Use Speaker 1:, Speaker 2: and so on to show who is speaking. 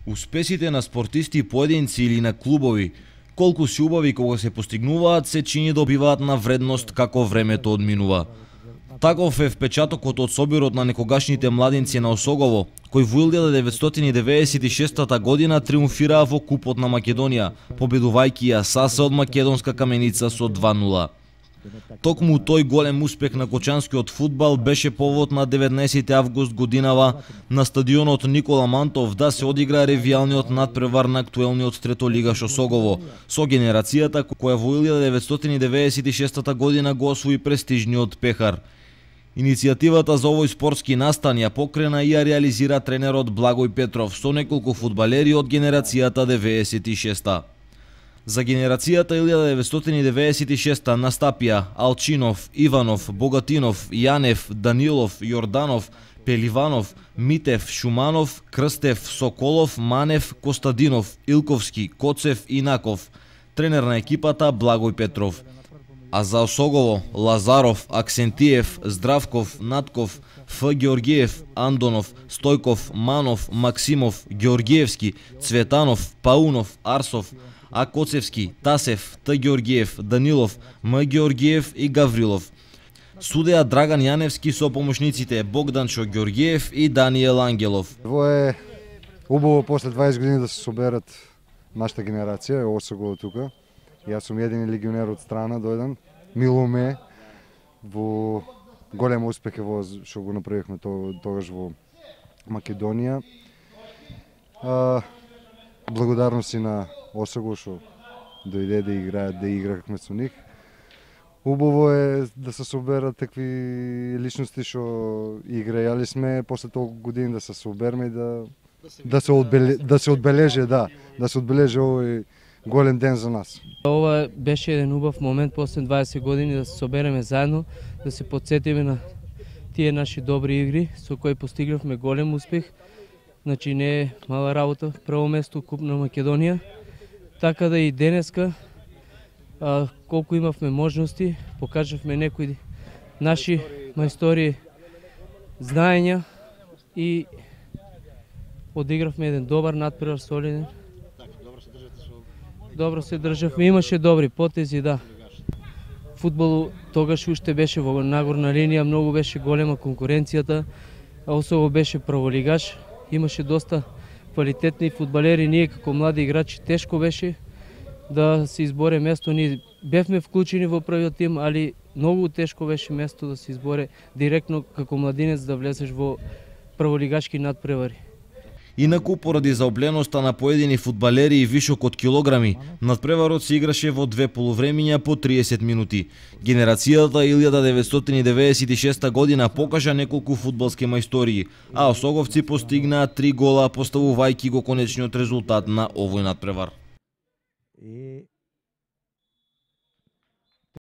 Speaker 1: Успесите на спортисти, поединци или на клубови, колку си убави кога се постигнуваат, се чини добиваат на вредност како времето одминува. Таков е впечатокот од собирот на некогашните младинци на Осогово, кој во 1996 година триумфираа во Купот на Македонија, победувајќи ја САС од македонска Каменица со 2:0. Токму тој голем успех на кочанскиот фудбал беше повод на 19 август годинава на стадионот Никола Мантов да се одигра ревијалниот надпревар на актуелниот третолигаш Осогово, со генерацијата која во 1996 година го освои престижниот пехар. Иницијативата за овој спортски настан ја покрена и ја реализира тренерот Благој Петров со неколку фудбалери од генерацијата 96-та. За генерацијата 1996 настапија Алчинов, Иванов, Богатинов, Јанев, Данилов, Јорданов, Пеливанов, Митев, Шуманов, Крстев, Соколов, Манев, Костадинов, Илковски, Коцев и Наков. Тренер на екипата Благој Петров. А за Осогово, Лазаров, Аксентиев, Здравков, Натков, Ф. Георгиев, Андонов, Стојков, Манов, Максимов, Георгиевски, Цветанов, Паунов, Арсов, А. Коцевски, Тасев, Т. Георгиев, Данилов, М. Георгиев и Гаврилов. Судеа Драган Јаневски со помошниците Богданчо Георгиев и Даниел Ангелов.
Speaker 2: Во е убаво после 20 години да се соберат нашата генерација, Осогово тука. Јас сум едини легионер од страна дојден. Мило ме во голем успех во што го направивме тогаш во Македонија. Благодарности на Осогово што дојде да играат, да играхме со нив. Убаво е да се соберат такви личности што играјали сме после толку години да се собереме и да се одбележи овој голем ден за нас.
Speaker 3: Ова беше еден убав момент после 20 години да се собереме заедно, да се потсетиме на тие наши добри игри со кои постигнавме голем успех. Значи не е мала работа, прво место Куп на Македонија. Така да и денеска колку имавме можности, покажавме некои наши мајстори знаења и одигравме еден добар надпревар, солиден. Добро се државме, имаше добри потези, да. Фудбал тогаш уште беше во нагорна линија, многу беше голема конкуренцијата, а Осогово беше прволигаш, имаше доста квалитетни фудбалери, ние како млади играчи тешко беше да се изборе место, ние бевме вклучени во првиот тим, али многу тешко беше место да се изборе директно како младинец да влезеш во прволигашки надпревари.
Speaker 1: Инаку, поради заобленоста на поедини фудбалери и вишок од килограми, надпреварот се играше во две полувремиња по 30 минути. Генерацијата 1996 година покажа неколку фудбалски мајстории, а осоговци постигнаа 3 гола, поставувајќи го конечниот резултат на овој надпревар.